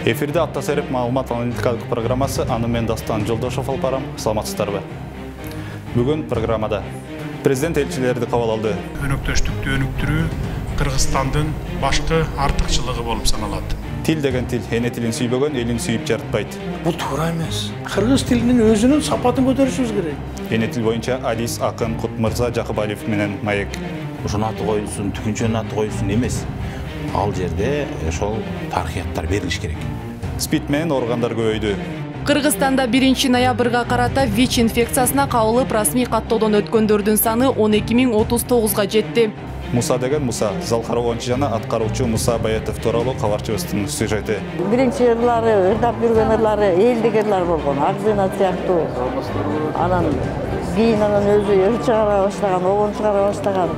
Эфирде Аттасереп маалымат аналитикалык программасы, аны мен Дастан Жолдошов алып барам. Саламатсыздарбы? Бүгүн программада президент элчилерди кабыл алды. Өнөктөштүктү өнүктүрүү Кыргызстандын башкы артыкчылыгы болуп саналат. Тил деген тил, эне тилин сүйбөгөн элин сүйүп жарытпайт. Бул туура эмес. Кыргыз тилинин өзүнүн сапатын көтөрүшүбүз керек. Эне тил боюнча Адис, Акын, Кутмырза Жакыбалиев менен Маек. Ошонун аты коюлсун, түкүнчөнүн аты коюлсун эмес. Ал жерде ошол тарыхыяттар берилиш керек. СПИД менен ооругандар көбөйдү. Кыргызстанда 1 ноябрга карата ВИЧ инфекциясына кабылып расмий каттоодон өткөндөрдүн саны 12039га жетти. Муса деген Муса, Залкаровончу жана аткаруучу Муса Баятов тууралуу кабарчыбыздын сюжети. Биринчи ырлары, ырдап жүргөн ырлары элдик ырлар болгон, Акзына сыяктуу. Анан кийин өзү ыр чыгара баштаган, обон чыгара баштаган.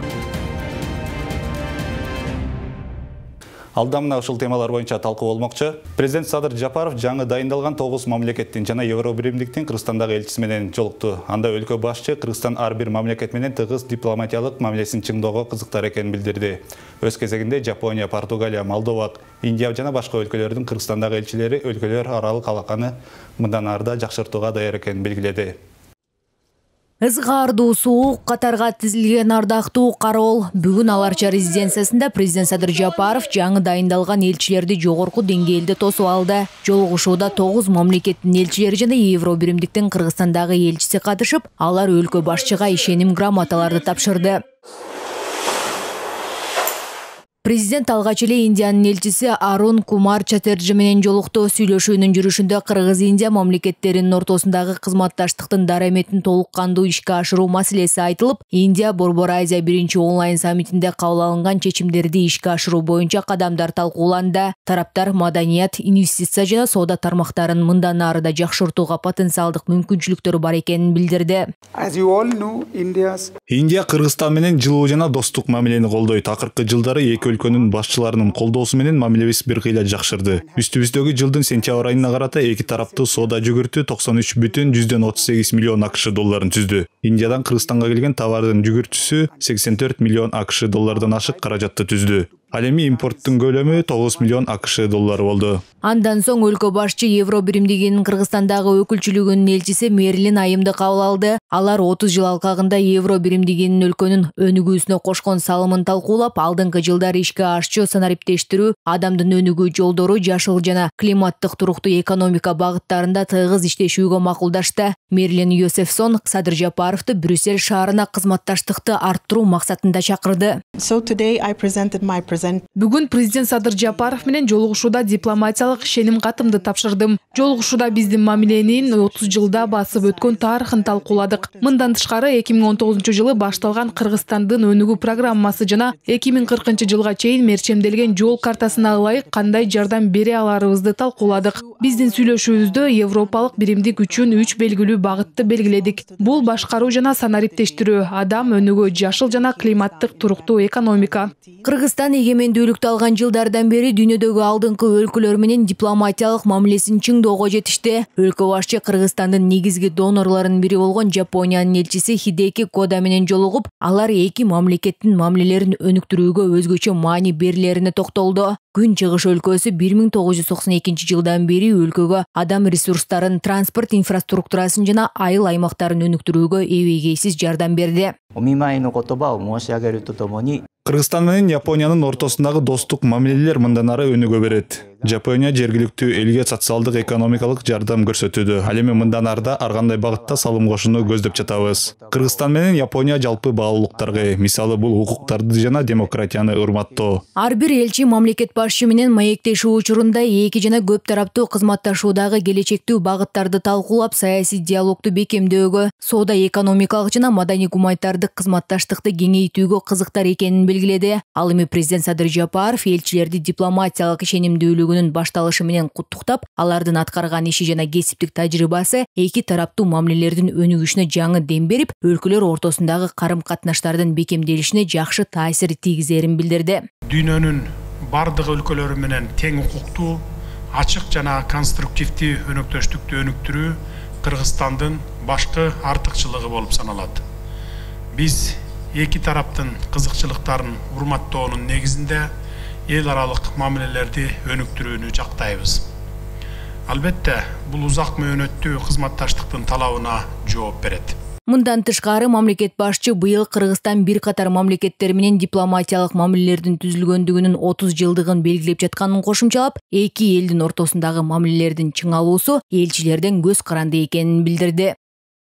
Алда мына ушул темалар боюнча талкуу болмокчу. Президент Садыр Жапаров жаңы дайындалган 9 мамлекеттин жана Евробиримдиктин Кыргызстандагы элчиси менен жолукту. Анда өлкө башчы Кыргызстан ар бир мамлекет менен тыгыз дипломатиялык мамилесин чыңдоого кызыктар экенин билдирди. Өз кезегинде Жапония, Португалия, Молдова, Индия жана башка өлкөлөрдүн Кыргызстандагы элчилери өлкөлөр аралык алаканы мындан арда жакшыртууга даяр экенин белгиледи. Ызгаардуу суук катарга тизилген ардактуу кароол. Бүгүн Аларча резиденциясында президент Садыр Жапаров жаңы дайындалган элчилерди жогорку деңгээлде тосуп алды. Жолугушууда 9 мамлекеттин элчилери жана Евробиримдиктин Кыргызстандагы элчиси катышып, алар өлкө башчыга ишеним грамоталарды тапшырды. Президент алгач эле Индиянын элчиси Арун Кумар Чаттерджи менен жолукту. Сүйлөшүүнүн жүрүшүндө Кыргыз-Индия мамлекеттеринин ортосундагы кызматташтыктын дараметин толук кандуу ишке ашыруу маселеси айтылып, Индия Борбор Азия 1 онлайн саммитинде кабыл алынган чечимдерди ишке ашыруу боюнча кадамдар талкууланды. Тараптар маданият, инвестиция жана соода тармактарын мындан ары да жакшыртууга потенциалдык мүмкүнчүлүктөрү бар экенин билдирди. Индия Кыргызстан менен жылуу жана достук мамилени колдойт. Акыркы жылдары эки өлкөнүн башчыларынын колдоосу менен мамилебиз бир кыйла жакшырды. Үстүбүздөгү жылдын сентябрь айына карата эки тараптуу соода жүгүртүү 93,38 миллион АКШ долларын түздү. Индиядан Кыргызстанга келген товардын жүгүртүүсү 84 миллион АКШ доллардан ашык каражатты түздү. Ал эми импорттун көлөмү 9 миллион АКШ доллары болду. Андан соң өлкө башчы Евробиримдигинин Кыргызстандагы өкүлчүлүгүнүн элчиси Мерлин Айымды кабыл алды. Алар 30 жыл алкагында Евробиримдигинин өлкөнүн өнүгүүсүнө кошкон салымын талкуулап, алдыңкы жылдары ишке ашчу санариптештирүү, адамдын өнүгүү жолдору, жашыл жана климаттык туруктуу экономика багыттарында тыгыз иштешүүгө макулдашты. Мерлин Йосефсон Садыр Жапаровду Брюссель шаарына кызматташтыкты арттыруу максатында чакырды. Бүгүн президент Садыр Жапаров менен жолугушууда дипломатиялык ишеним катымды тапшырдым. Жолугушууда биздин мамиленин 30 жылда басып өткөн тарыхын талкууладык. Мындан тышкары 2019 жылы башталган Кыргызстандын өнүгүү программасы жана 2040 жылга чейин мерчемделген жол картасына ылайык кандай жардам бере аларыбызды талкууладык. Биздин сүйлөшүүбүздө Европалык биримдик үчүн 3 белгилүү багытты белгиледик. Бул башкаруу жана санариптештирүү, адам өнүгүү, жашыл жана климаттык туруктуу экономика. Кыргызстан эгемендүүлүктү алган жылдардан бери дүйнөдөгү алдыңкы өлкөлөр менен дипломатиялык мамилесин чыңдоого жетишти. Өлкө башчы Кыргызстандын негизги донорлорунун бири болгон Жапониянын элчиси Хидеки Кода менен жолугуп, алар эки мамлекеттин мамилелерин өнүктүрүүгө өзгөчө маани берилерине токтолду. Күн чыгыш өлкөсү 1992 жылдан бери өлкөгө адам ресурстарын, транспорт инфраструктурасын жана айыл аймактарын өнүктүрүүгө эбегейсиз жардам берди. Кыргызстан менен Япониянын ортосундагы достук мамилелер мындан ары өнүгө берет. Жапония жергиликтүү элге социалдык экономикалык жардам көрсөтүүдө. Ал эми мындан арда ар кандай багытта салым кошууну көздөп жатабыз. Кыргызстан менен Япония жалпы баалуулуктарга, мисалы бул укуктарды жана демократияны урматтоо. Ар бир элчи мамлекет башчы менен маектешүү учурунда эки жана көп тараптуу кызматташуудагы келечектүү багыттарды талкуулап, саясий диалогду бекемдөөгө, соода экономикалык жана маданий гуманитардык кызматташтыкты кеңейтүүгө кызыктар экенин белгиледи. Ал эми президент Садыр Жапаров элчилерди дипломатиялык ишенимдүүлүгүнүн башталышы менен куттуктап, алардын аткарган иши жана кесиптик тажрыйбасы эки тараптуу мамилелердин өнүгүшүнө жаңы дем берип, өлкөлөр ортосундагы карым-катнаштардын бекемделишине жакшы таасир тийгизерин билдирди. Дүйнөнүн бардык өлкөлөрү менен тең укуктуу, ачык жана конструктивдүү өнөктөштүктү өнүктүрүү Кыргызстандын башкы артыкчылыгы болуп саналат. Биз эки тараптын кызыкчылыктарын урматтоонун негизинде эл аралык мамилелерди өнүктүрүүнү жактайбыз. Албетте, бул узак мөөнөттүү кызматташтыктын талабына жооп берет. Мындан тышкары мамлекет башчы быйыл Кыргызстан бир катар мамлекеттер менен дипломатиялык мамилелердин түзүлгөндүгүнүн 30 жылдыгын белгилеп жатканын кошумчалап, эки элдин ортосундагы мамилелердин чыңалуусу элчилерден көз каранды экенин билдирди.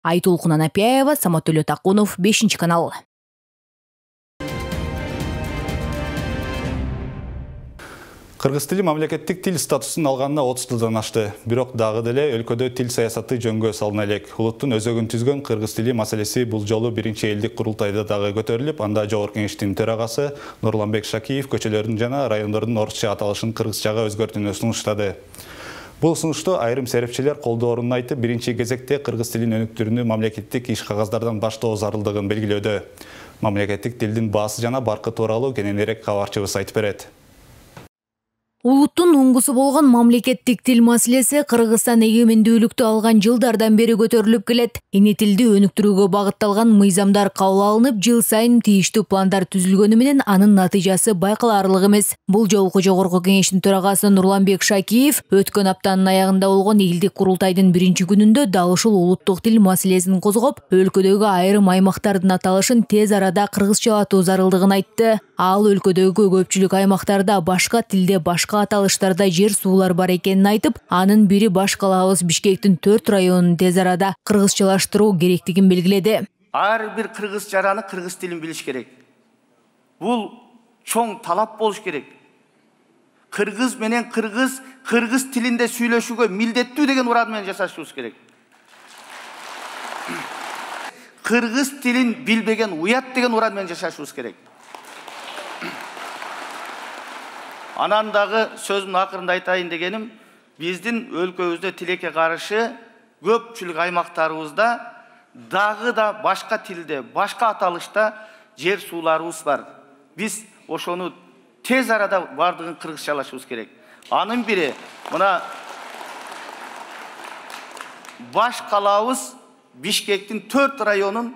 Айтолкун Анапияева, Саматөлө Такунов, 5 канал. Кыргыз тили мамлекеттик тил статусун алганына 30 жылдан ашты. Бирок дагы деле өлкөдө тил саясаты жөнгө салына элек. Улуттун өзөгүн түзгөн кыргыз тили маселеси бул жолу биринчи элдик курултайда дагы көтөрүлүп, анда Жогорку Кеңештин төрагасы Нурланбек Шакиев көчөлөрдүн жана райондордун орусча аталышын кыргызчага өзгөртүүнү сунуштады. Бул сунушту айрым серепчилер колдоорун айтып, биринчи кезекте кыргыз тилин өнүктүрүүнү мамлекеттик иш кагаздардан баштоо зарылдыгын белгилөөдө. Мамлекеттик тилдин баасы жана баркы тууралуу кененирээк кабарчыбыз айтып берет. Улуттун уңгусу болгон мамлекеттик тил маселеси Кыргызстан эгемендүүлүктү алган жылдардан бери көтөрүлүп келет. Эне тилди өнүктүрүүгө багытталган мыйзамдар кабыл алынып, жыл сайын тийиштүү пландар түзүлгөнү менен анын натыйжасы байкалаарлык эмес. Бул жолку Жогорку Кеңештин төрагасы Нурланбек Шакиев өткөн аптанын аягында болгон элдик курултайдын биринчи күнүндө дал ушул улуттук тил маселесин козгоп, өлкөдөгү айрым аймактардын аталышын тез арада кыргызчалатуу зарылдыгын айтты. Ал өлкөдөгү көпчүлүк аймактарда башка тилде башка аталыштарда жер суулар бар экенин айтып, анын бири баш калаабыз Бишкектин 4 районун тез арада кыргызчалаштыруу керектигин белгиледи. Ар бир кыргыз жараны кыргыз тилин билиш керек. Бул чоң талап болуш керек. Кыргыз менен кыргыз тилинде сүйлөшүүгө милдеттүү деген уран менен жашашыбыз керек. Кыргыз тилин билбеген уят деген уран менен жашашыбыз керек. Анан дагы сөзүмдүн акырында айтайын дегеним, биздин өлкөбүздө тилекке каршы көпчүлүк аймактарыбызда дагы да башка тилде, башка аталышта жер сууларыбыз бар. Биз ошону тез арада бардыгын кыргызчалашыбыз керек. Анын бири мына баш калаабыз Бишкектин 4 районун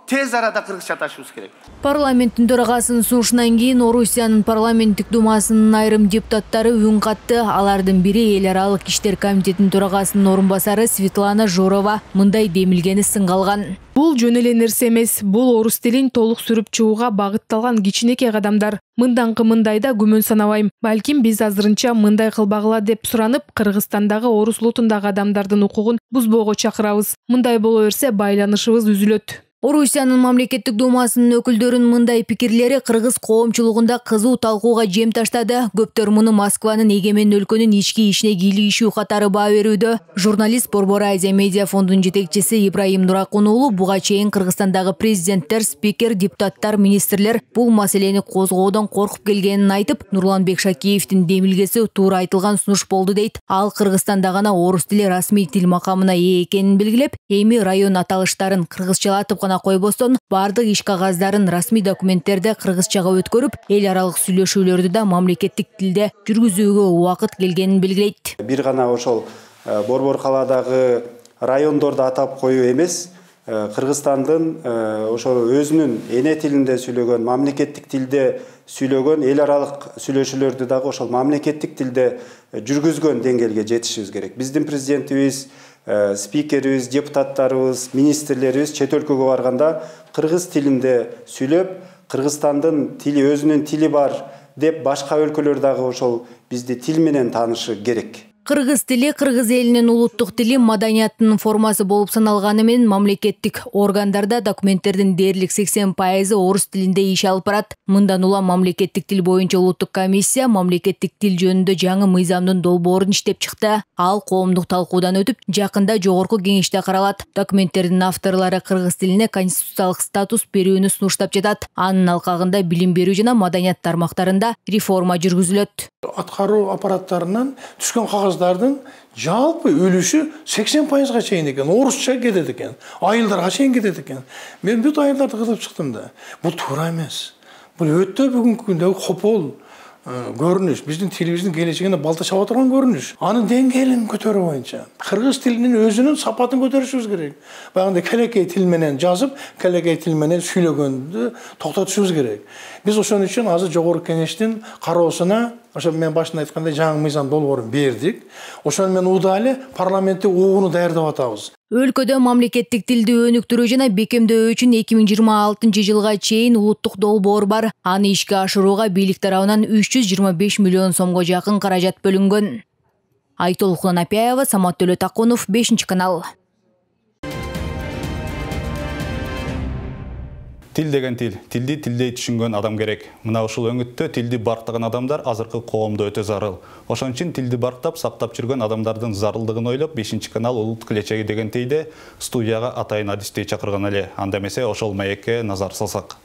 тез арада кыргызчаташыбыз керек. Парламенттин төрагасынын сунушунан кийин Орусиянын парламенттик думасынын айрым депутаттары үн катты. Алардын бири эл аралык иштер комитетинин төрагасынын орун басары Светлана Жорова мындай демилгени сынга алган. Бул жөн эле нерсе эмес. Бул орус тилин толук сүрүп чыгууга багытталган кичинекей кадамдар. Мынданкы мындайда күмөн санабайм. Балким биз азырынча мындай кылбагыла деп суранып, Кыргызстандагы орус улутундагы адамдардын укугун бузбоого чакырабыз. Мындай боло берсе байланышыбыз үзүлөт. Орусиянын мамлекеттик думасынын өкүлдөрүнүн мындай пикирлери кыргыз коомчулугунда кызуу талкууга жем таштады. Көптөр муну Москванын эгемен өлкөнүн ички ишине кийлигишүү катары баа берүүдө. Журналист Борбор Азия медиа фондунун жетекчиси Ибраим Нуракун уулу буга чейин Кыргызстандагы президенттер, спикер, депутаттар, министрлер бул маселени козгоодон коркуп келгенин айтып, Нурланбек Шакиевдин демилгеси туура айтылган сунуш болду дейт. Ал Кыргызстанда гана орус тили расмий тил макамына ээ экенин белгилеп, эми район аталыштарын кыргызчалатып койбостон бардык иш кагаздарын расмий документтерде кыргызчага өткөрүп, эл аралык сүйлөшүүлөрдү да мамлекеттик тилде жүргүзүүгө убакыт келгенин белгилейт. Бир гана ошол Борбор калаадагы райондорду атап коюу эмес, Кыргызстандын ошол өзүнүн эне тилинде сүйлөгөн, мамлекеттик тилде сүйлөгөн эл аралык сүйлөшүүлөрдү дагы ошол мамлекеттик тилде жүргүзгөн деңгээлге жетишибиз керек. Биздин президентибиз, спикерибиз, депутаттарыбыз, министрлерибиз чет өлкөгө барганда кыргыз тилинде сүйлөп, Кыргызстандын тили, өзүнүн тили бар деп башка өлкөлөр дагы ошол бизди тил менен таанышы керек. Кыргыз тили кыргыз элинин улуттук тили, маданиятынын формасы болуп саналганы менен мамлекеттик органдарда документтердин дээрлик 80% орус тилинде иш алып барат. Мындан улам мамлекеттик тил боюнча улуттук комиссия мамлекеттик тил жөнүндө жаңы мыйзамдын долбоорун иштеп чыкты. Ал коомдук талкуудан өтүп, жакында Жогорку Кеңеште каралат. Документтердин авторлору кыргыз тилине конституциялык статус берүүнү сунуштап жатат. Анын алкагында билим берүү жана маданият тармактарында реформа жүргүзүлөт. Аткаруу аппараттарынан түшкөн кагаздардын жалпы үлүшү 80%га чейин экен, орусча кетет экен, айылдарга чейин кетет экен. Мен бүт айылдарды кызып чыктым да. Бул туура эмес. Бул өтө бүгүнкү күндө копол көрүнүш, биздин тилибиздин келечегине балта чаба турган көрүнүш. Анын деңгээлин көтөрүү боюнча кыргыз тилинин өзүнүн сапатын көтөрүшүбүз керек. Баягындай келекей тил менен жазып, келекей тил менен сүйлөгөндү токтотушубуз керек. Биз ошон үчүн азыр жогорку кеңештин кароосуна, ошо мен башында айткандай жаңы мыйзам долбоорун бердик. Ошону менен удаалы парламентте угууну даярдап атабыз. Өлкөдө мамлекеттик тилди өнүктүрүү жана бекемдөө үчүн 2026 жылга чейин улуттук долбоор бар. Аны ишке ашырууга бийлик тарабынан 325 миллион сомго жакын каражат бөлүнгөн. Айтол Хунапяева, Самат Төлөтакунов, 5-канал. Тил деген тил. Тилди тилдей түшүнгөн адам керек. Мына ушул өңүттө тилди барктаган адамдар азыркы коомдо өтө зарыл. Ошон үчүн тилди барктап, сактап жүргөн адамдардын зарылдыгын ойлоп, 5-канал улут келечеги деген тийде студияга атайын адистей чакырган эле. Анда эмесе ошол маекке назар салсак.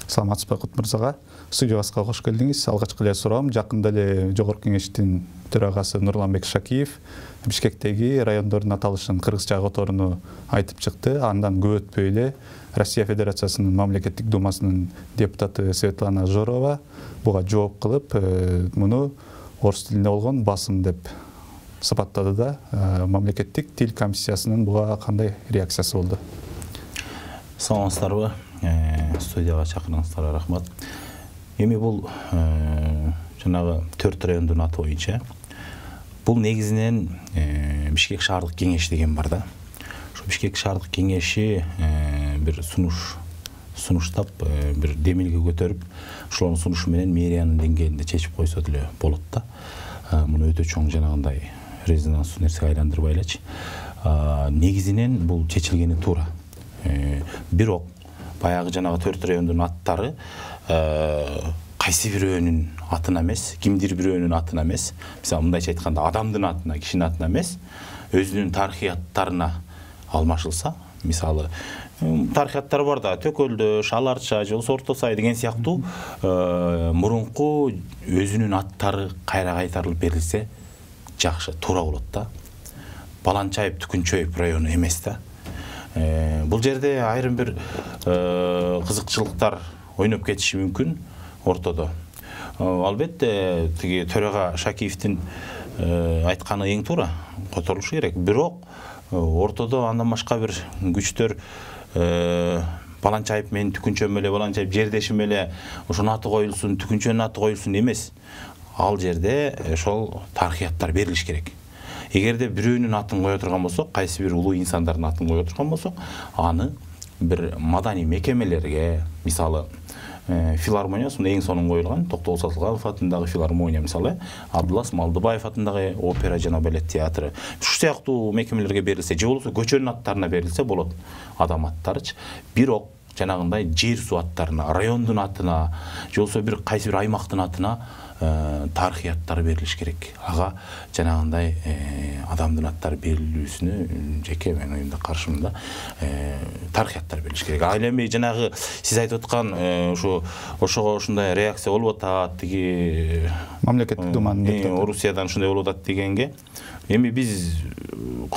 Саламатсызбы Кут мырзага? Студиябызга кош келдиңиз. Алгачкы эле суроом, жакында эле Жогорку кеңештин төрагасы Нурланбек Шакиев Бишкектеги райондордун аталышын кыргызча которууну айтып чыкты. Андан көп өтпөй эле Россия Федерациясынын мамлекеттик думасынын депутаты Светлана Жорова буга жооп кылып, муну орус тилинде болгон басым деп сыпаттады да. Мамлекеттик тил комиссиясынын буга кандай реакциясы болду? Саламатсыздарбы? Студияга чакырганыңыздарга рахмат. Эми бул жанагы 4 райондун аты боюнча бул негизинен Бишкек шаардык кеңеш деген бар да. Ошо Бишкек шаардык кеңеши бир сунуштап, бир демилге көтөрүп, ошолордун сунушу менен мэриянын деңгээлинде чечип койсо деле болот да. Муну өтө чоң жанагындай резонанстуу нерсеге айландырбай элечи. Негизинен бул чечилгени туура. Бирок баягы жанагы 4 райондун аттары кайсы бирөөнүн атына эмес, кимдир бирөөнүн атына эмес, мисалы мындайча айтканда адамдын атына, кишинин атына эмес, өзүнүн тарыхый аттарына алмашылса, мисалы тарыхый аттар бар да, Төкөлдө, Шаларча, же болбосо Орто Сай деген сыяктуу мурунку өзүнүн аттары кайра кайтарылып берилсе жакшы, туура болот да. Баланчайып, Түкүнчөйүп району эмес да. Бул жерде айрым бир кызыкчылыктар ойноп кетиши мүмкүн ортодо. Албетте тиги төрага Шакиевдин айтканы эң туура, которулушу керек. Бирок ортодо андан башка бир күчтөр Баланчайып менен Түкүнчөм эле, Баланчайып жердешим эле, ошонун аты коюлсун, Түкүнчөнүн аты коюлсун эмес. Ал жерде ошол тарыхый аттар берилиш керек. Эгерде бирөөнүн атын кое турган болсок, кайсы бир улуу инсандардын атын кое турган болсок, аны бир маданий мекемелерге, мисалы филармония, сонда эң сонун коюлган Токтогул Сатылганов атындагы филармония, мисалы Абдулас Малдыбаев атындагы опера жана балет театры, ушул сыяктуу мекемелерге берилсе, же болбосо көчөнүн аттарына берилсе болот, адам аттарычы. Бирок жанагындай жер суу аттарына, райондун атына, же болбосо бир кайсы бир аймактын атына тарыхый аттар берилиш керек. Ага жанагындай адамдын аттары берилүүсүнө жеке мен оюмда каршымын да. Тарыхый аттар берилиш керек. Ал эми жанагы сиз айтып аткан ошого ушундай реакция болуп атат, тиги мамлекеттик думанын Орусиядан ушундай болуп атат дегенге, эми биз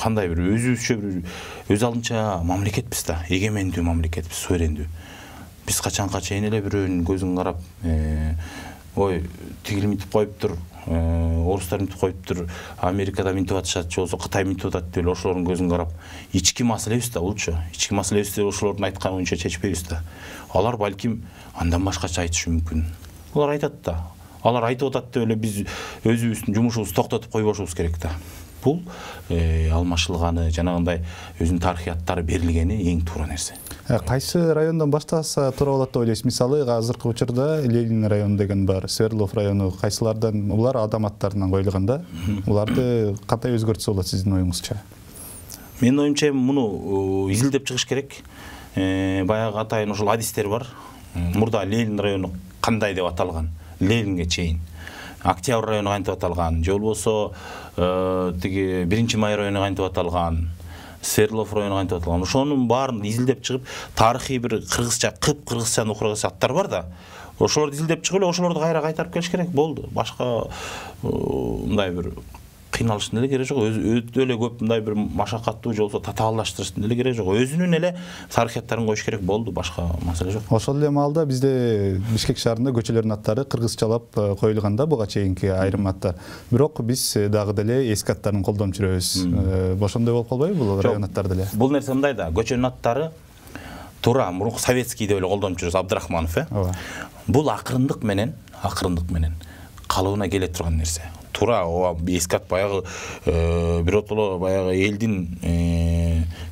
кандай бир өзүбүзчө бир өз алдынча мамлекетпиз да, эгемендүү мамлекетпиз, суверендүү. Биз качанга чейин эле бирөөнүн көзүн карап, ой, тигил мынтип коюптур, орустар мынтип коюптур, Америкада мынтип атышат, же болбосо Кытай мынтип атат деп ошолордун көзүн карап, ички маселебиз да булчу. Ички маселебизди ошолордун айтканы боюнча чечпейбиз да. Алар балким андан башкача айтышы мүмкүн. Алар айтат да. Алар айтып атат деп эле биз өзүбүздүн жумушубузду токтотуп койбошубуз керек да. Бул алмашылганы, жанагындай өзүнүн тарыхый аттары берилгени эң туура нерсе. Кайсы райондон баштаса туура болот деп ойлойсуз? Мисалы, азыркы учурда Ленин району деген бар, Свердлов району, кайсылардан улар адам аттарынан коюлган да. Уларды кандай өзгөртсө болот сиздин оюңузча? Менин оюмча муну изилдеп чыгыш керек. Баягы атайын ошол адистер бар. Мурда Ленин району кандай деп аталган? Ленинге чейин. Октябрь району кантип аталган, же болбосо тиги 1-май району кантип аталган, Свердлов району кантип аталган. Ошонун баарын изилдеп чыгып, тарыхый бир кыргызча, кыпкыргызча окурган аттар бар да. Ошолорду изилдеп чыгып эле ошолорду кайра кайтарып келиш керек. Болду. Башка мындай бир кыйналыштын эле кереги жок, өтө эле көп мындай бир машакаттуу же болбосо татаалдаштырыштын эле кереги жок. Өзүнүн эле тарыхияттарын коюш керек болду, башка маселе жок. Ошол эле маалда бизде Бишкек шаарында көчөлөрдүн аттары кыргызчалап коюлган да буга чейинки айрым аттар. Бирок биз дагы деле эски аттарын колдонуп жүрөбүз. Ошондой болуп калбайбы бул район аттары деле? Бул нерсе мындай да, көчөнүн аттары туура мурунку советский деп эле колдонуп жүрөбүз, Абдрахманов, Бул акырындык менен калыбына келе турган нерсе. Туура эски ат баягы биротоло баягы элдин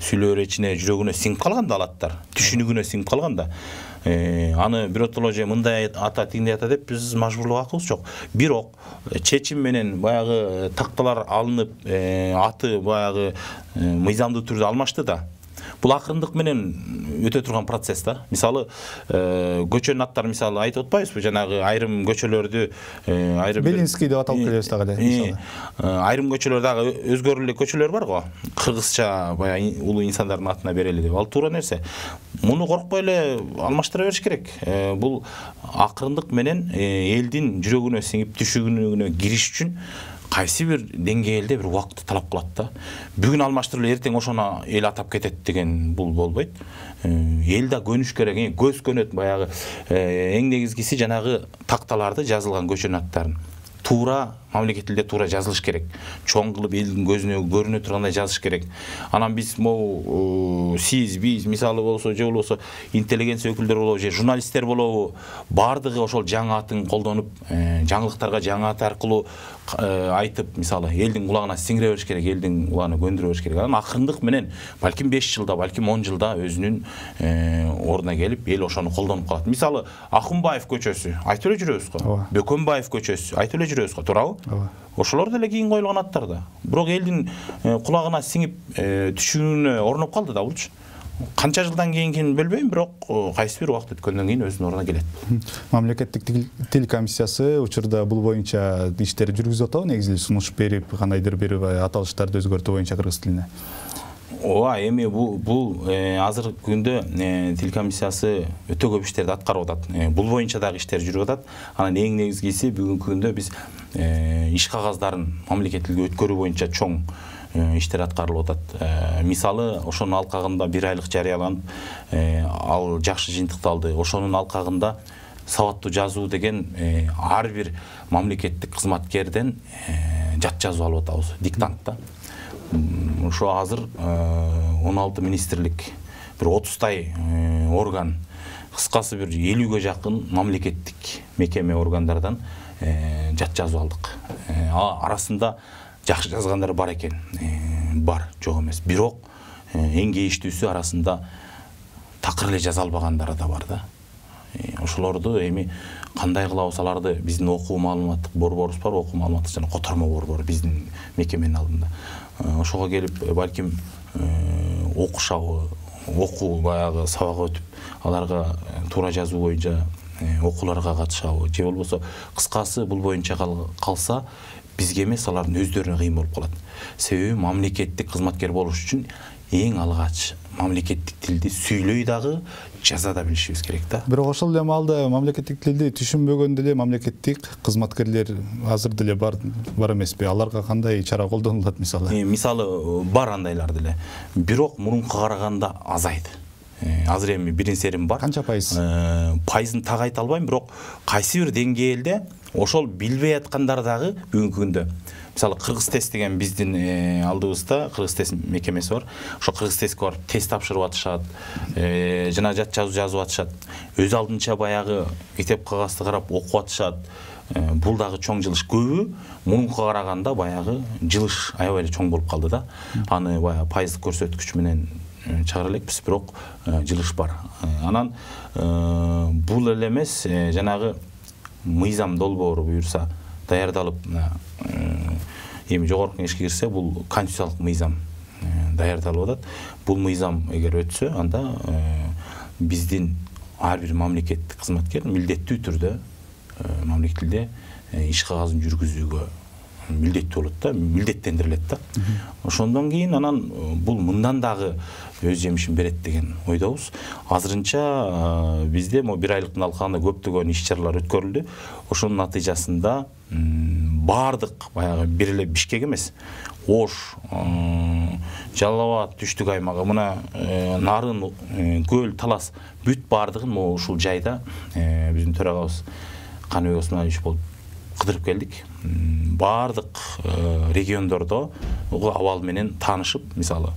сүйлөөр ичине, жүрөгүнө сиңип калган да, ал аттар түшүнүгүнө сиңип калган да. Аны биротоло же мындай ата, тигиндей ата деп биз мажбурлоо акыбыз жок. Бирок чечим менен баягы такталар алынып, аты баягы мыйзамдуу түрдө алмашты да. Бул акырындык менен өтө турган процесс да. Мисалы, көчөнүн аттары мисалы айтып атпайбызбы, жанагы айрым көчөлөрдү айрым Белинский деп аталып келебиз дагы эле. Айрым көчөлөр дагы өзгөрүлгөн көчөлөр бар го. Кыргызча баягы улуу инсандардын атына берели деп. Ал туура нерсе. Муну коркпой эле алмаштыра бериш керек. Бул акырындык менен элдин жүрөгүнө сиңип, түшүнүгүнө кириш үчүн кайсы бир деңгээлде бир убакытты талап кылат да. Бүгүн алмаштырып эртең ошону эл атап кетет деген бул болбойт. Эл да көнүш керек, көз көнөт баягы. Эң негизгиси жанагы такталарды жазылган көчөнүн аттарын туура мамлекет тилде туура жазылыш керек. Чоң кылып элдин көзүнө көрүнө тургандай жазыш керек. Анан биз сиз, биз мисалы болсо же болбосо интеллигенция өкүлдөр болобу же журналисттер болобу, бардыгы ошол жаңы атын колдонуп, жаңылыктарга жаңы ат аркылуу айтып, мисалы элдин кулагына сиңире бериш керек, элдин кулагына көндүрө бериш керек. Анан акырындык менен балким 5 жылда, балким 10 жылда өзүнүн ордуна келип, эл ошону колдонуп калат. Мисалы, Акунбаев көчөсү айтып эле жүрөбүз го. Бөкөнбаев көчөсү айтып эле жүрөбүз го, туурабы? Ошолор деле кийин коюлган аттар да. Бирок элдин кулагына сиңип, түшүнүүнө орноп калды да булчу. Канча жылдан кийин билбейм, бирок кайсы бир убакыт өткөндөн кийин өзүнүн ордуна келет. Мамлекеттик тил комиссиясы учурда бул боюнча иштер жүргүзүп атабы, негизи сунуш берип, кандайдыр бир аталыштарды өзгөртүү боюнча кыргыз тилине? Эми бул азыркы күндө тил комиссиясы өтө көп иштерди аткарып атат. Бул боюнча дагы иштер жүрүп атат. Анан эң негизгиси бүгүнкү күндө биз иш кагаздарын мамлекет тилге өткөрүү боюнча чоң иштер аткарылып атат. Мисалы, ошонун алкагында 1 айлык жарыяланып, ал жакшы жыйынтыкталды. Ошонун алкагында сабаттуу жазуу деген ар бир мамлекеттик кызматкерден жат жазуу алып атабыз, диктант да. Ошо азыр 16 министрлик, бир 30-тай орган, кыскасы бир 50-ге жакын мамлекеттик мекеме органдардан жат жазуу алдык. Арасында жакшы жазгандар бар экен, бар, жок эмес. Бирок эң кейиштүүсү арасында такыр эле жаза албагандары да бар да. Ошолорду эми кандай кылабыз, аларды биздин окуу маалыматтык борборубуз бар, окуу маалыматтык жана котормо борбор биздин мекеменин алдында. Ошого келип, балким окушабы, окуу баягы сабак өтүп, аларга туура жазуу боюнча окууларга катышабы, же болбосо кыскасы бул боюнча калса, бизге эмес, алардын өздөрүнө кыйын болуп калат. Себеби мамлекеттик кызматкер болуш үчүн эң алгач мамлекеттик тилди сүйлөй дагы, жаза да билишибиз керек да. Бирок ошол эле маалда мамлекеттик тилди түшүнбөгөн деле мамлекеттик кызматкерлер азыр деле бар эмеспи? Аларга кандай чара колдонулат мисалы? Мисалы, бар андайлар деле. Бирок мурункуга караганда азайды. Азыр эми бирин серим бар. Канча пайыз? Пайызын так айта албайм, бирок кайсы бир деңгээлде ошол билбей аткандар дагы бүгүнкү күндө. Мисалы, Кыргыз тест деген биздин алдыбызда Кыргыз тест мекемеси бар. Ошо Кыргыз тестке барып тест тапшырып атышат, жана жат жазуу жазып атышат. Өз алдынча баягы мектеп кагазды карап окуп атышат. Бул дагы чоң жылыш. Көбү мурункуга караганда баягы жылыш аябай эле чоң болуп калды да. Аны баягы пайыздык көрсөткүч менен чыгара элекпиз, бирок жылыш бар. Анан бул эле эмес, жанагы мыйзам долбоору буюрса даярдалып, эми жогорку кеңешке кирсе, бул конституциялык мыйзам даярдалып атат. Бул мыйзам эгер өтсө, анда биздин ар бир мамлекеттик кызматкер милдеттүү түрдө мамлекет тилде иш кагазын жүргүзүүгө милдеттүү болот да, милдеттендирилет да. Ошондон кийин анан бул мындан дагы өз жемишин берет деген ойдобуз. Азырынча бизде 1 айлыктын алкагында көптөгөн иш чаралар өткөрүлдү. Ошонун натыйжасында бардык баягы бир эле Бишкек эмес, Ош, Жалал Абад түштүк аймагы, мына Нарын, Көл, Талас бүт бардыгын ушул жайда биздин төрагабыз Каныбек Осмонович болуп кыдырып келдик. Бардык региондордо абал менен таанышып, мисалы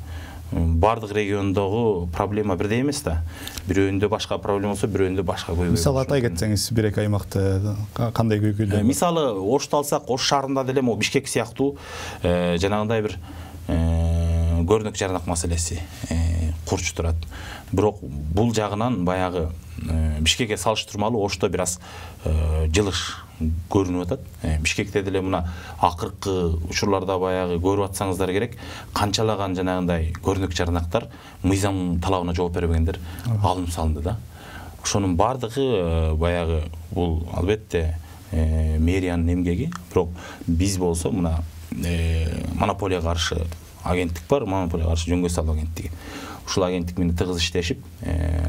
бардык региондогу проблема бирдей эмес да. Бирөөндө башка проблема болсо, бирөөндө башка көйгөй. Мисалы атай кетсеңиз, бир эки аймакта кандай көйгөйлөр? Мисалы Ошту алсак, Ош шаарында деле могу Бишкек сыяктуу жанагындай бир көрүнөк жарнак маселеси курч турат. Бирок бул жагынан баягы Бишкекке салыштырмалуу Ошто бир аз жылыш көрүнүп атат. Бишкекте деле мына акыркы учурларда баягы көрүп атсаңыздар керек, канчалаган жанагындай көрүнөк жарнактар мыйзам талабына жооп бербегендер алынып салынды да. Ошонун бардыгы баягы бул албетте мэриянын эмгеги, бирок биз болсо мына монополияга каршы агенттик бар, монополияга каршы жөнгө салуу агенттиги. Ушул агенттик менен тыгыз иштешип,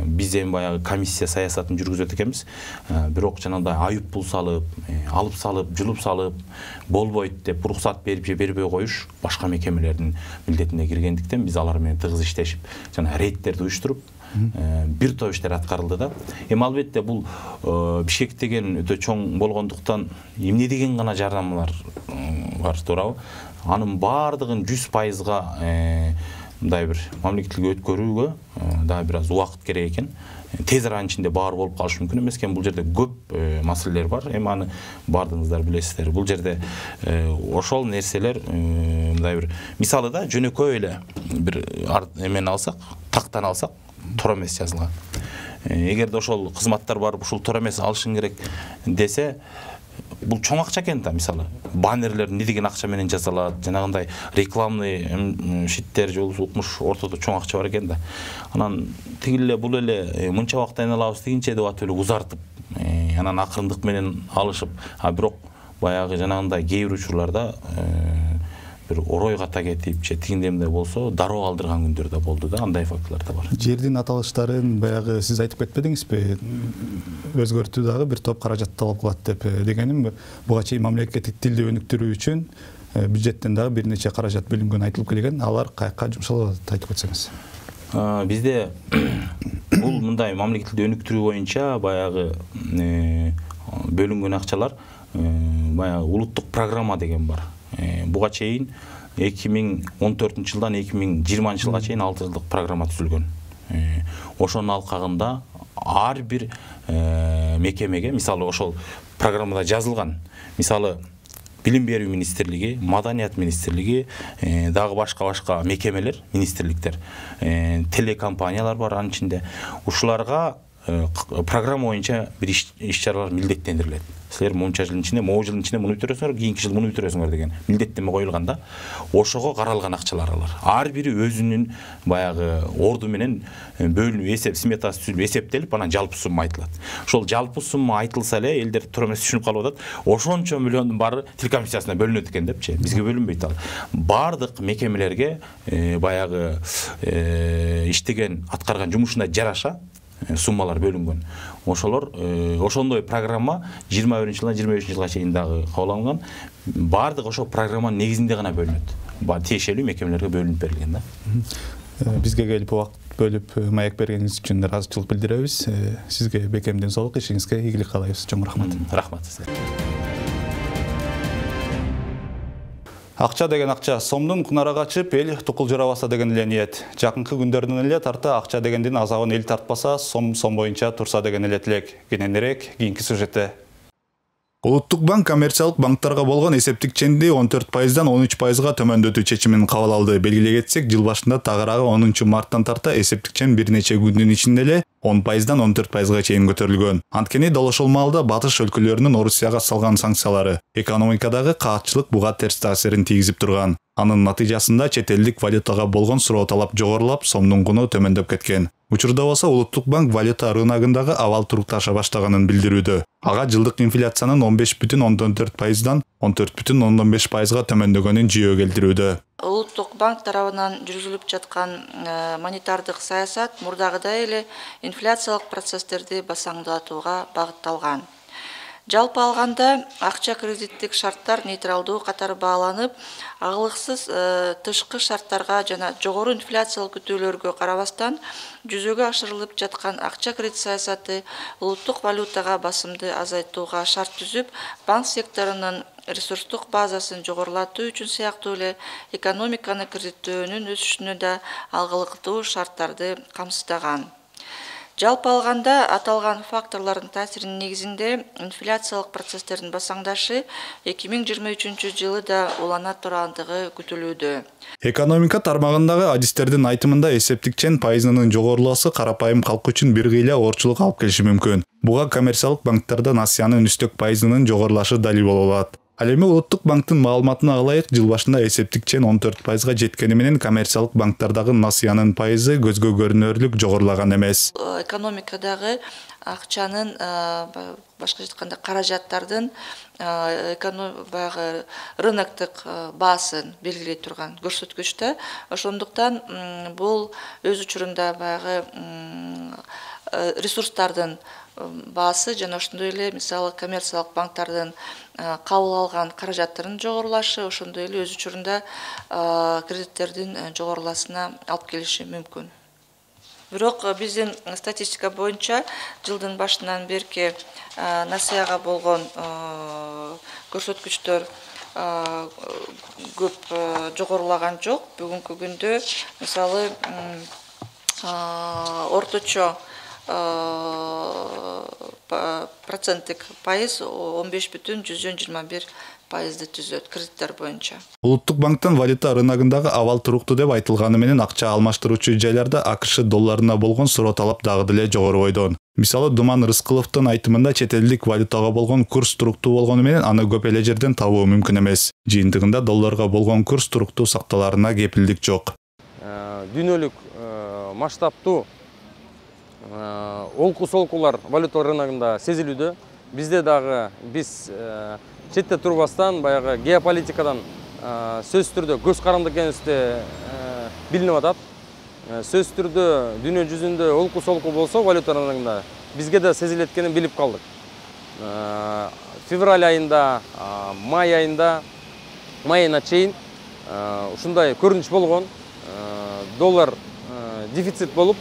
биз эми баягы комиссия саясатын жүргүзөт экенбиз. Бирок жанагындай айып пул салып, алып салып, жулуп салып, болбойт деп уруксат берип же бербей коюш башка мекемелердин милдетине киргендиктен биз алар менен тыгыз иштешип, жана рейдтерди уюштуруп, бир топ иштер аткарылды да. Эми албетте бул Бишкек деген өтө чоң болгондуктан эмне деген гана жарнамалар бар, туурабы? Анын бардыгын 100%га мындай бир мамлекеттиликке өткөрүүгө да бир аз убакыт керек экен. Тез аранын ичинде баары болуп калышы мүмкүн эмес экен. Бул жерде көп маселелер бар. Эми аны бардыгыңыздар билесиздер. Бул жерде ошол нерселер мындай бир мисалы да жөнөкөй эле бир эмени алсак, тактан алсак, туура эмес жазылган. Эгерде ошол кызматтар барып ушул туура эмес алышың керек десе, бул чоң акча экен да, мисалы баннерлер эмне деген акча менен жасалат, жанагындай рекламный шиттер же укмуш ортодо чоң акча бар экен да. Анан тиги эле бул эле мынча убакыт айналабыз дегенче деп атып эле узартып, анан акырындык менен алышып, бирок баягы жанагындай кээ бир учурларда бир орой ката кетип же тигиндемде болсо дароо алдырган күндөр да болду да, андай фактылар да бар. Жердин аталыштарын баягы сиз айтып кетпедиңизби? Өзгөртүү дагы бир топ каражат талап кылат деп. Дегеним, буга чейин мамлекеттик тилди өнүктүрүү үчүн бюджеттен дагы бир нече каражат бөлүнгөн айтылып келген. Алар каяка жумшалат айтып кетсеңиз? Бизде бул мындай мамлекеттик тилди өнүктүрүү боюнча баягы бөлүнгөн акчалар баягы улуттук программа деген бар. Буга чейин 2014-жылдан 2020 жылга чейин 6 жылдык программа түзүлгөн. Ошонун алкагында ар бир мекемеге, мисалы ошол программада жазылган, мисалы Билим берүү министрлиги, Маданият министрлиги, дагы башка мекемелер, министрликтер, телекомпаниялар бар анын ичинде. Ушуларга программа боюнча бир иш-чаралар милдеттендирилет. Силер мынча жылдын ичинде, могу жылдын ичинде муну бүтүрөсүңөр, кийинки жыл муну бүтүрөсүңөр деген милдеттенме коюлган да. Ошого каралган акчалар алар. Ар бири өзүнүн баягы орду менен бөлүнүп, эсеп сметасы түзүлүп, эсептелип, анан жалпы сумма айтылат. Ошол жалпы сумма айтылса эле элдер туура эмес түшүнүп калып атат. Ошончо миллиондун баары тил комиссиясына бөлүнөт экен депчи. Бизге бөлүнбөйт ал. Бардык мекемелерге баягы иштеген, аткарган жумушуна жараша суммалар бөлүнгөн. Ошолор ошондой программа 21-жылдан 25-жылга чейин дагы кабыл алынган. Бардык ошол программанын негизинде гана бөлүнөт. Тиешелүү мекемелерге бөлүнүп берилген да. Бизге келип убакыт бөлүп маек бергениңиз үчүн ыраазычылык билдиребиз. Сизге бекемден соолук, ишиңизге ийгилик каалайбыз. Чоң рахмат. Рахмат сизге. Акча деген акча сомдун кунара качып, эл тукулжырабаса деген эле ниет. Жакынкы күндөрдөн эле тарта акча дегендин азабын эл тартпаса, сом боюнча турса деген эле тилек. Кененирээк кийинки сюжетте. Улуттук банк коммерциялык банктарга болгон эсептик ченди 14%дан 13%га төмөндөтүү чечимин кабыл алды. Белгилей кетсек, жыл башында тагыраагы 10-марттан тарта эсептик чен бир нече күндүн ичинде эле 10%дан 14%га чейин көтөрүлгөн. Анткени дал ошол маалда батыш өлкөлөрүнүн Орусияга салган санкциялары экономикадагы каатчылык буга терс таасирин тийгизип турган. Анын натыйжасында чет элдик валютага болгон суроо талап жогорулап, сомдун куну төмөндөп кеткен. Учурда болсо Улуттук банк валюта рыногундагы абал турукташа баштаганын билдирүүдө. Ага жылдык инфляциянын 15,14%дан 14,5%га төмөндөгөнүн жүйө келтирүүдө. Улуттук банк тарабынан жүргүзүлүп жаткан монетардык саясат мурдагыдай эле инфляциялык процесстерди басаңдатууга багытталган. Жалпы алганда акча кредиттик шарттар нейтралдуу катары бааланып, агылыксыз тышкы шарттарга жана жогору инфляциялык күтүүлөргө карабастан жүзөгө ашырылып жаткан акча кредит саясаты улуттук валютага басымды азайтууга шарт түзүп, банк секторунун ресурстук базасын жогорулатуу үчүн сыяктуу эле экономиканы кредиттөөнүн өсүшүнө да алгылыктуу шарттарды камсыздаган. Жалпы алганда аталган факторлордун таасиринин негизинде инфляциялык процесстердин басаңдашы 2023 жылы да улана тургандыгы күтүлүүдө. Экономика тармагындагы адистердин айтымында эсептик чен пайызынын жогорулоосу карапайым калк үчүн бир кыйла оорчулук алып келиши мүмкүн. Буга коммерциялык банктарда насыянын үстөк пайызынын жогорулашы далил боло алат. Ал эми Улуттук банктын маалыматына ылайык жыл башында эсептик чен 14%га жеткени менен коммерциялык банктардагы насыянын пайызы көзгө көрүнөрлүк жогорулаган эмес. Экономикадагы акчанын башка айтканда каражаттардын баягы рыноктук баасын белгилей турган көрсөткүчтө. Ошондуктан бул өз учурунда баягы ресурстардын баасы жана ошондой эле мисалы коммерциялык банктардын кабыл алган каражаттарынын жогорулашы ошондой эле өз учурунда кредиттердин жогоруласына алып келиши мүмкүн. Бирок биздин статистика боюнча жылдын башынан берки насыяга болгон көрсөткүчтөр көп жогорулаган жок. Бүгүнкү күндө мисалы орточо проценттик пайыз 15,21% түзөт кредиттер боюнча. Улуттук банктын валюта рыногундагы абал туруктуу деп айтылганы менен акча алмаштыруучу жайларда АКШ долларына болгон суроо талап дагы деле жогору бойдон. Мисалы Думан Рыскыловдун айтымында чет элдик валютага болгон курс туруктуу болгону менен аны көп эле жерден табуу мүмкүн эмес. Жыйынтыгында долларга болгон курс туруктуу сакталарына кепилдик жок. Дүйнөлүк масштабтуу олку-солкулар валюта рыногунда сезилүүдө. Бизде дагы биз четте турбастан баягы геополитикадан сөзсүз түрдө көз каранды экенибизди билинип атат. Сөзсүз түрдө дүйнө жүзүндө олку-солку болсо валюта рыногунда бизге да сезилет экенин билип калдык. Февраль айында, май айына чейин ушундай көрүнүш болгон. Доллар дефицит болуп,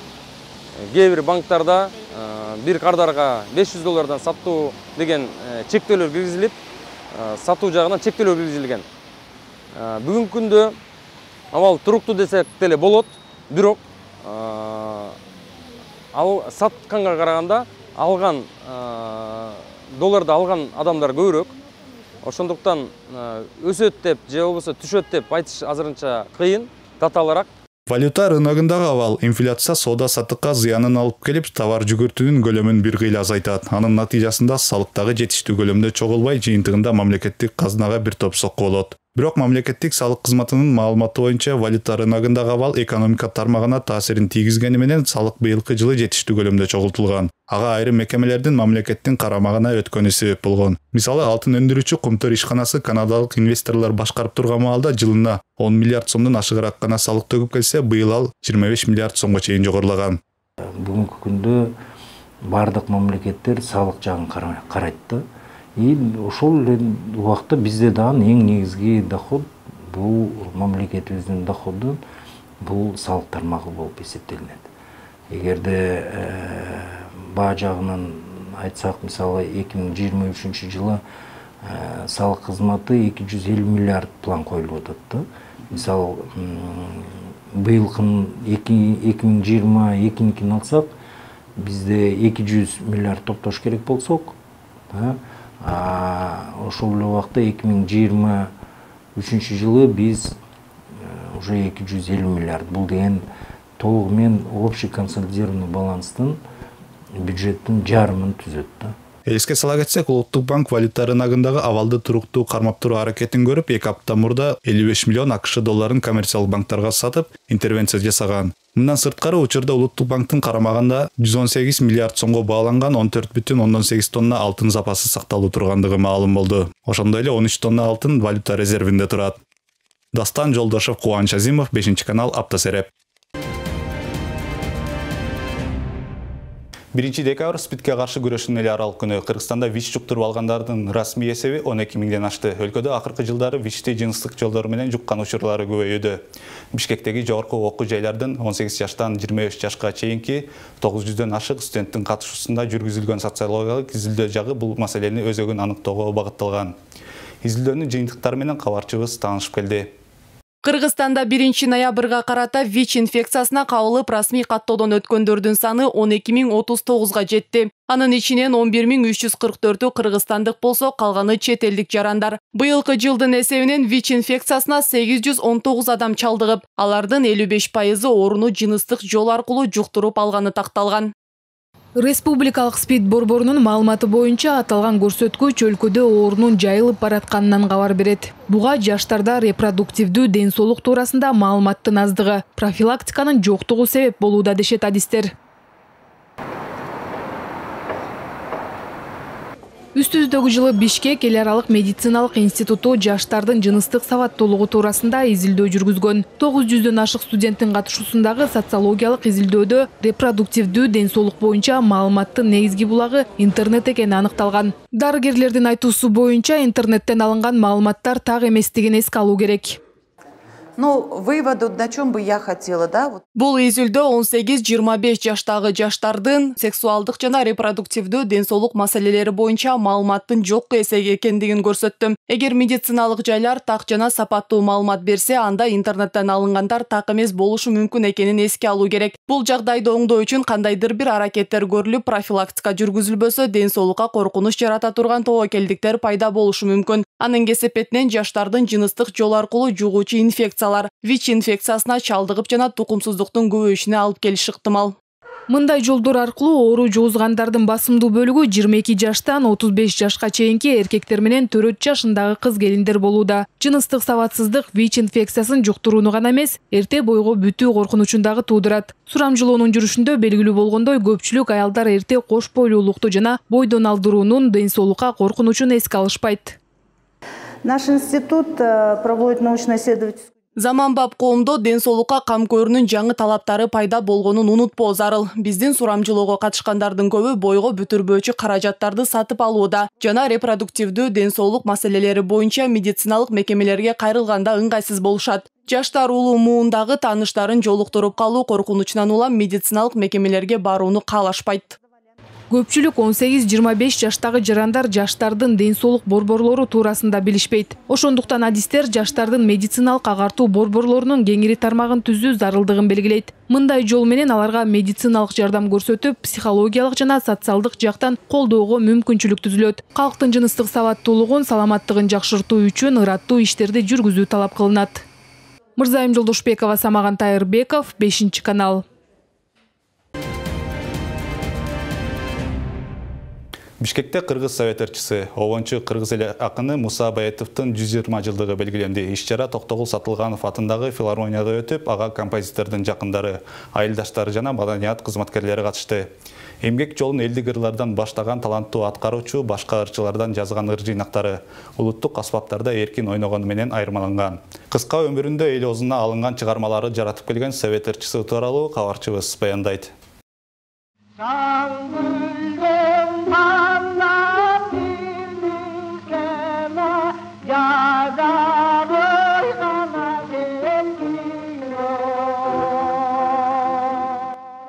кээ бир банктарда бир кардарга $500 сатуу деген чектөөлөр киргизилип, сатуу жагынан чектөөлөр киргизилген. Бүгүнкү күндө абал туруктуу десек деле болот, бирок сатканга караганда алган долларды алган адамдар көбүрөөк. Ошондуктан өсөт деп же болбосо түшөт деп айтыш азырынча кыйын, даталараак. Валюта рыногундагы абал инфляция соода саттыкка зыянын алып келип, товар жүгүртүүнүн көлөмүн бир кыйла азайтат. Анын натыйжасында салыктагы жетиштүү көлөмдө чогулбай, жыйынтыгында мамлекеттик казынага бир топ сокку болот. Бирок мамлекеттик салык кызматынын маалыматы боюнча валюта рыногундагы абал экономика тармагына таасирин тийгизгени менен салык быйылкы жылы жетиштүү көлөмдө чогултулган. Ага айрым мекемелердин мамлекеттин карамагына өткөнү себеп болгон. Мисалы, алтын өндүрүүчү Кумтөр ишканасы канадалык инвесторлор башкарып турган маалда жылына 10 миллиард сомдон ашыгыраак гана салык төгүп келсе, быйыл ал 25 миллиард сомго чейин жогорулаган. Бүгүнкү күндө бардык мамлекеттер салык жагын карайт да. Ошол эле убакта бизде дагы эң негизги доход бул мамлекетибиздин доходу бул салык тармагы болуп эсептелинет. Эгерде баа жагынан айтсак, мисалы 2023 жылы салык кызматы 250 миллиард план коюлуп атат да. Мисалы быйылкынын 2022-кин алсак, бизде 200 миллиард топтош керек болсок, ошол эле убакта 2023 жылы биз уже 250 миллиард. Бул деген толугу менен общий консолидированный баланстын бюджеттин жарымын түзөт да. Эске сала кетсек, Улуттук банк валюта рыногундагы абалды туруктуу кармап туруу аракетин көрүп, 2 апта мурда 55 миллион АКШ долларын коммерциялык банктарга сатып, интервенция жасаган. Мындан сырткары учурда Улуттук банктын карамагында 118 миллиард сомго бааланган 14,8 тонна алтын запасы сакталуу тургандыгы маалым болду. Ошондой эле 13 тонна алтын валюта резервинде турат. Дастан Жолдошев, Кубаныч Азимов, 5-канал, Апта Сереп. 1 декабрь спидке каршы күрөшүүнүн эле аралык күнү. Кыргызстанда ВИЧ жуктуруп алгандардын расмий эсеби 12 миңден ашты. Өлкөдө акыркы жылдары ВИЧти жыныстык жолдор менен жуккан учурлары көбөйүүдө. Бишкектеги жогорку окуу жайлардын 18 жаштан 23 жашка чейинки 900дөн ашык студенттин катышуусунда жүргүзүлгөн социологиялык изилдөө жагы бул маселени өзөгүн аныктоого багытталган. Изилдөөнүн жыйынтыктары менен кабарчыбыз таанышып келди. Кыргызстанда 1 ноябрга карата ВИЧ инфекциясына кабылып расмий каттоодон өткөндөрдүн саны 12.039 жетти. Анын ичинен 11.344-ü кыргызстандык болсо, калганы чет элдик жарандар. Быйылкы жылдын эсебинен ВИЧ инфекциясына 819 адам чалдыгып, алардын 55% ооруну жыныстык жол аркылуу жуктуруп алганы такталган. Республикалык СПИД борборунун маалыматы боюнча аталган көрсөткүч өлкөдө оорунун жайылып баратканынан кабар берет. Буга жаштарда репродуктивдүү ден соолук туурасында маалыматтын аздыгы, профилактиканын жоктугу себеп болууда дешет адистер. Үстүбүздөгү жылы Бишкек эл аралык медициналык институту жаштардын жыныстык сабаттуулугу туурасында изилдөө жүргүзгөн. 900дөн ашык студенттин катышуусундагы социологиялык изилдөөдө репродуктивдүү ден соолук боюнча маалыматтын негизги булагы интернет экени аныкталган. Дарыгерлердин айтуусу боюнча интернеттен алынган маалыматтар так эместигин эске алуу керек. Выводу, на чем бы я хотела, да? Бул изилдөө 18-25 жаштагы жаштардын сексуалдык жана репродуктивдүү ден соолук маселелери боюнча маалыматтын жок экендигин көрсөттү. Эгер медициналык жайлар так жана сапаттуу маалымат берсе, анда интернеттен алынгандар так эмес болушу мүмкүн экенин эске алуу керек. Бул жагдайды оңдоо үчүн кандайдыр бир аракеттер көрүлүп, профилактика жүргүзүлбөсө, ден соолукка коркунуч жарата турган тобокелдиктер пайда болушу мүмкүн. Анын кесепетинен жаштардын жыныстык жол аркылуу жугуучу инфекциялар ВИЧ инфекциясына чалдыгып жана тукумсуздуктун көбөйүшүнө алып келиши ыктымал. Мындай жолдор аркылуу оору жугузгандардын басымдуу бөлүгү 22 жаштан 35 жашка чейинки эркектер менен 4 жашындагы кыз келиндер болууда. Жыныстык сабатсыздык ВИЧ инфекциясын жуктурууну гана эмес, эрте бойго бүтүү коркунучун дагы туудурат. Сурамжылоонун жүрүшүндө белгилүү болгондой, көпчүлүк аялдар эрте кош бойлуулукту жана бойдон алдыруунун ден соолукка коркунучун эске алышпайт. Наш институт проводит научно-исследовательскую. Заманбап коомдо ден соолукка кам көрүүнүн жаңы талаптары пайда болгонун унутпоо зарыл. Биздин сурамжылоого катышкандардын көбү бойго бүтүрбөөчү каражаттарды сатып алууда жана репродуктивдүү ден соолук маселелери боюнча медициналык мекемелерге кайрылганда ыңгайсыз болушат. Жаштар улуу муундагы тааныштарын жолуктуруп калуу коркунучунан улам медициналык мекемелерге барууну каалашпайт. Көпчүлүк 18-25 жаштагы жарандар жаштардын ден соолук борборлору туурасында билишпейт. Ошондуктан адистер жаштардын медициналык агартуу борборлорунун кеңири тармагын түзүү зарылдыгын белгилейт. Мындай жол менен аларга медициналык жардам көрсөтүп, психологиялык жана социалдык жактан колдоого мүмкүнчүлүк түзүлөт. Калктын жыныстык сабаттуулугун, саламаттыгын жакшыртуу үчүн ыраттуу иштерди жүргүзүү талап кылынат. Мырзайым Жолдошбекова, Самаган Тайырбеков, 5 канал. Бишкекте кыргыз совет ырчысы, обончу кыргыз эл акыны Муса Баятовдун 120 жылдыгы белгиленди. Иш-чара Токтогул Сатылганов атындагы филармонияда өтүп, ага композитордун жакындары, айылдаштары жана маданият кызматкерлери катышты. Эмгек жолун элдик ырлардан баштаган таланттуу аткаруучу башка ырчылардан жазган ыр жыйнактары улуттук аспаптарда эркин ойногону менен айырмаланган. Кыска өмүрүндө эл оозуна алынган чыгармалары жаратып келген совет ырчысы тууралуу кабарчыбыз баяндайт.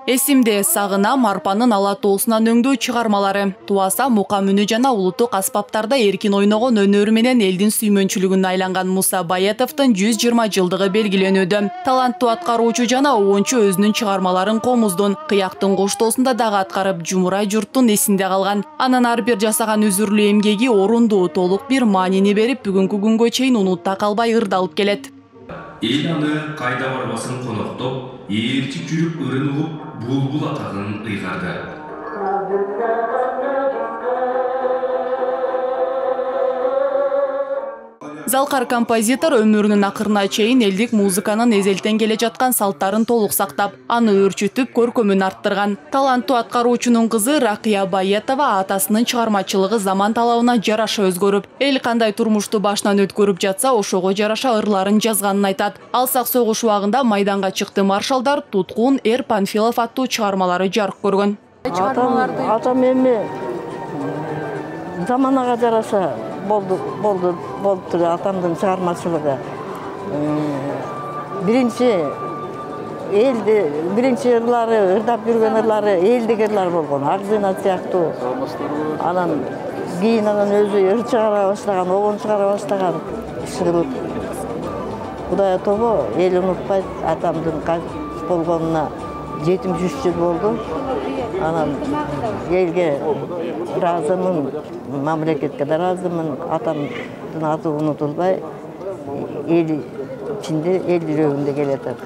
Эсимде сагынам арпанын ала тоосунан өңдөө чыгармалары. Туаса мукам үнү жана улуттук аспаптарда эркин ойногон өнөрү менен элдин сүймөнчүлүгүнө айланган Муса Баятовдун 120 жылдыгы белгиленүүдө. Таланттуу аткаруучу жана обончу өзүнүн чыгармаларын комуздун, кыяктын коштоосунда дагы аткарып, жумурай журттун эсинде калган. Анын ар бир жасаган үзүрлүү эмгеги орундуу, толук бир маанини берип, бүгүнкү күнгө чейин унутта калбай ырдалып келет. Эл аны кайда барбасын коноктоп, ээрчип жүрүп ырын угуп, булбул атагын ыйгарды. Залкар композитор өмүрүнүн акырына чейин элдик музыканын эзелтен келе жаткан салттарын толук сактап, аны өөрчүтүп, көркөмүн арттырган. Таланттуу аткаруучунун кызы Ракия Баятова атасынын чыгармачылыгы заман талабына жараша өзгөрүп, эл кандай турмушту башынан өткөрүп жатса, ошого жараша ырларын жазганын айтат. Алсак согуш убагында майданга чыкты маршалдар, Туткун, Эр Панфилов аттуу чыгармалары жарык көргөн. Атам эми заманага жараша болуптур атамдын чыгармачылыгы. Биринчи ырлары, ырдап жүргөн ырлары элдик ырлар болгон. Агзына сыяктуу. Анан кийин өзү ыр чыгара баштаган, огон чыгара баштаган киши. Кудай тобо эл унутпайт, атамдын кайтып болгонуна 73 жыл болду. Анан элге ыраазымын, мамлекетке да ыраазымын. Атамдын аты унутулбай, эл ичинде, эл жүрөгүндө келатат.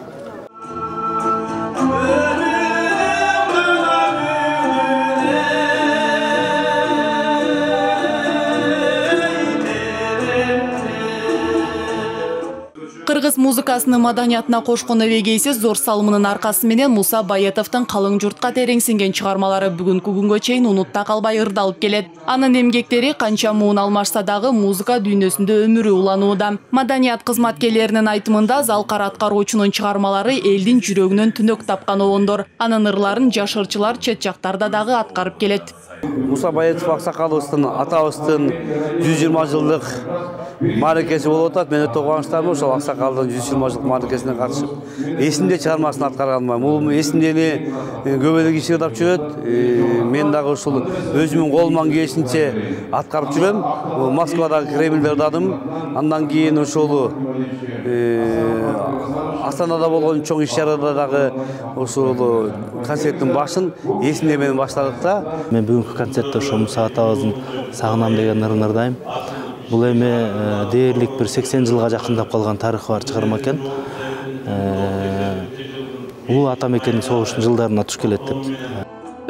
Кыргыз музыкасынын маданиятына кошкон эбегейсиз зор салымынын аркасы менен Муса Баятовдун калың журтка тереңсинген чыгармалары бүгүнкү күнгө чейин унутта калбай ырдалып келет. Анын эмгектери канча муун алмашса дагы музыка дүйнөсүндө өмүрү уланууда. Маданият кызматкерлеринин айтымында Залкар аткаруучунун чыгармалары элдин жүрөгүнөн түнөк тапкан обондор. Анын ырларын жашырчылар чет жактарда дагы аткарып келет. Муса Баятов аксакалыбыздын атабыздын 120 жылдык мааракеси болуп атат. Мен өтө кубанычтамын ошол аксакалдын 120 жылдык мааракесине катышып, эсимде чыгармасын аткарганыма. Бул эсимде эле көп эле киши ырдап жүрөт. Мен дагы ушул өзүмдүн колумдан келишинче аткарып жүрөм. Москвадагы Кремльде ырдадым. Андан кийин ошол Астанада болгон чоң иш-чарада дагы ошол концерттин башын эсимде менен баштадык да. Мен бүгүнкү концертте ошо Муса атабыздын Сагынам деген ырын ырдайм. Бул эми дээрлик бир 80 жылга жакындап калган тарыхы бар чыгарма экен. Бул ата мекендин согуштун жылдарына туш келет деп.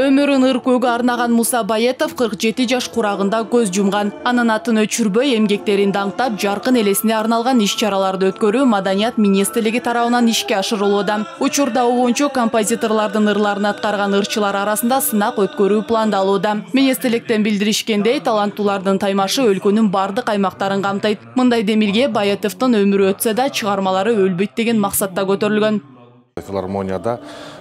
Өмүрүн ыркөөгө арнаган Муса Баятов 47 жаш курагында көз жумган. Анын атын өчүрбөй эмгектерин даңктап, жаркын элесине арналган иш-чараларды өткөрүү Маданият министрлиги тарабынан ишке ашырылууда. Учурда обончу композиторлордун ырларын аткарган ырчылар арасында сынак өткөрүү пландалууда. Министрликтен билдиришкендей, таланттуулардын таймашы өлкөнүн бардык аймактарын камтыйт. Мындай демилге Баятовдун өмүрү өтсө да чыгармалары өлбөйт деген максатта көтөрүлгөн. Филармонияда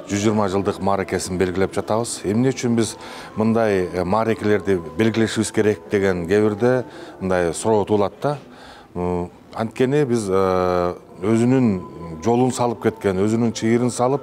120 жылдык мааракесин белгилеп жатабыз. Эмне үчүн биз мындай мааракелерди белгилешибиз керек деген кээ мындай суроо туулат да. Анткени биз өзүнүн жолун салып кеткен, өзүнүн чыйырын салып,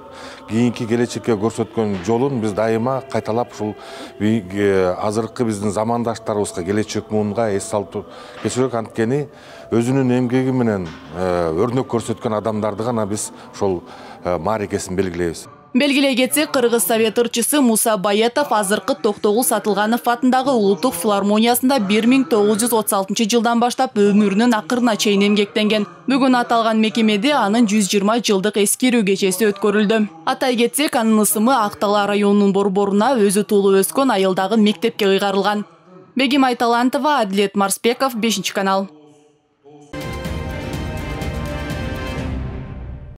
кийинки келечекке көрсөткөн жолун биз дайыма кайталап ушул азыркы биздин замандаштарыбызга, келечек муунга эс салып кетсек, анткени өзүнүн эмгеги менен өрнөк көрсөткөн адамдарды гана биз ошол мааракесин белгилейбиз. Белгилей кетсек, Кыргыз совет ырчысы Муса Баятов азыркы Токтогул Сатылганов атындагы Улуттук филармониясында 1936 жылдан баштап өмүрүнүн акырына чейин эмгектенген. Бүгүн аталган мекемеде анын 120 жылдык эскерүү кечеси өткөрүлдү. Атай кетсек, анын ысымы Актала районунун борборуна өзү туулуп өскөн айылдагы мектепке ыйгарылган. Бегим Айталантова, Адилет Марспеков, 5 канал.